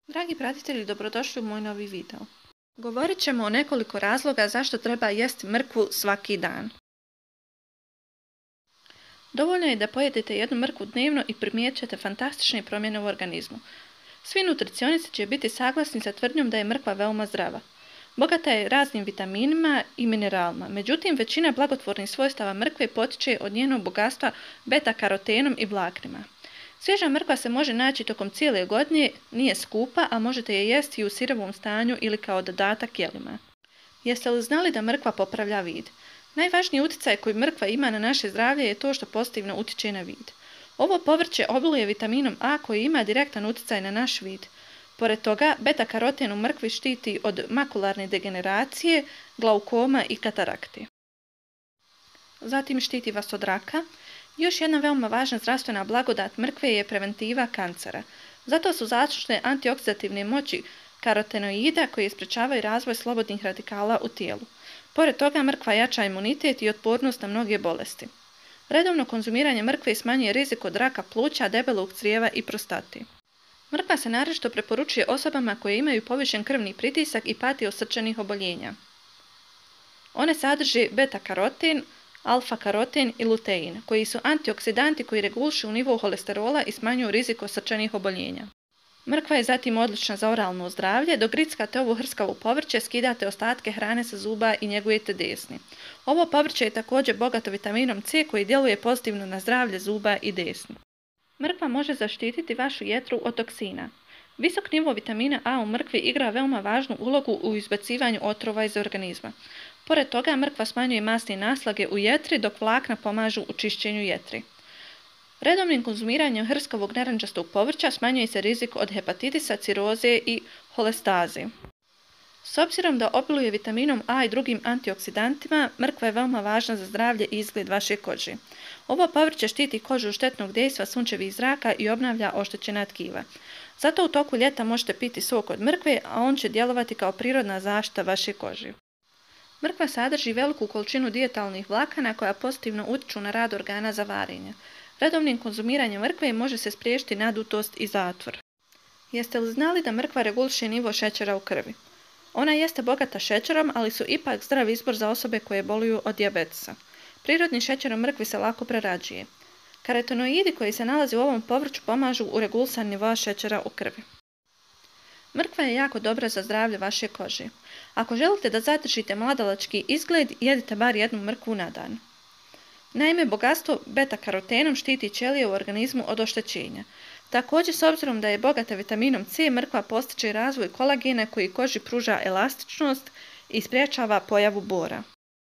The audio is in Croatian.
Dragi pratitelji, dobrodošli u moj novi video. Govorit ćemo o nekoliko razloga zašto treba jesti mrkvu svaki dan. Dovoljno je da pojedete jednu mrkvu dnevno i primijetit ćete fantastične promjene u organizmu. Svi nutricionisti će biti saglasni sa tvrdnjom da je mrkva veoma zdrava. Bogata je raznim vitaminima i mineralima, međutim većina blagotvornih svojstava mrkve potiče od njenog bogatstva beta-karotenom i vlaknima. Svježa mrkva se može naći tokom cijele godine, nije skupa, a možete je jesti i u sirovom stanju ili kao dodatak jelima. Jeste li znali da mrkva popravlja vid? Najvažniji utjecaj koji mrkva ima na naše zdravlje je to što pozitivno utječe na vid. Ovo povrće obiluje vitaminom A koji ima direktan utjecaj na naš vid. Pored toga, beta-karoten u mrkvi štiti od makularne degeneracije, glaukoma i katarakte. Zatim štiti vas od raka. Još jedna veoma važna zdravstvena blagodat mrkve je preventiva kancera. Zato su zaslužne antioksidativne moći karotenoida koji sprečavaju razvoj slobodnih radikala u tijelu. Pored toga mrkva jača imunitet i otpornost na mnoge bolesti. Redovno konzumiranje mrkve smanjuje rizik od raka pluća, debelog crijeva i prostate. Mrkva se naročito preporučuje osobama koje imaju povišen krvni pritisak i pati od srčanih oboljenja. One sadrže beta-karoten, alfa-karoten i lutein, koji su antioksidanti koji regulišu nivo holesterola i smanjuju rizik od srčanih oboljenja. Mrkva je zatim odlična za oralno zdravlje, dok grickate ovo hrskavo povrće, skidate ostatke hrane sa zuba i njegujete desni. Ovo povrće je također bogato vitaminom C koji djeluje pozitivno na zdravlje zuba i desni. Mrkva može zaštititi vašu jetru od toksina. Visok nivo vitamina A u mrkvi igra veoma važnu ulogu u izbacivanju otrova iz organizma. Pored toga, mrkva smanjuje masne naslage u jetri, dok vlakna pomažu u čišćenju jetri. Redovnim konzumiranjem hrskavog narančastog povrća smanjuje se rizik od hepatitisa, ciroze i holestaze. S obzirom da obiluje vitaminom A i drugim antioksidantima, mrkva je veoma važna za zdravlje i izgled vaše kože. Ovo povrće štiti kožu od štetnog dejstva sunčevih zraka i obnavlja oštećena tkiva. Zato u toku ljeta možete piti sok od mrkve, a on će djelovati kao prirodna zaštita vaše kože. Mrkva sadrži veliku količinu dijetalnih vlakana koja pozitivno utječu na rad organa za varenje. Redovnim konzumiranjem mrkve može se spriječiti nadutost i zatvor. Jeste li znali da mrkva reguliše nivo šećera u krvi? Ona jeste bogata šećerom, ali su ipak zdrav izbor za osobe koje boluju od dijabetesa. Prirodni šećer u mrkvi se lako prerađuje. Karotenoidi koji se nalaze u ovom povrću pomažu u regulisanju nivoa šećera u krvi. Mrkva je jako dobra za zdravlje vaše kože. Ako želite da zadržite mladalački izgled, jedite bar jednu mrkvu na dan. Naime, bogatstvo beta-karotenom štiti ćelije u organizmu od oštećenja. Također, s obzirom da je bogata vitaminom C, mrkva postiče razvoj kolagena koji koži pruža elastičnost i sprječava pojavu bora.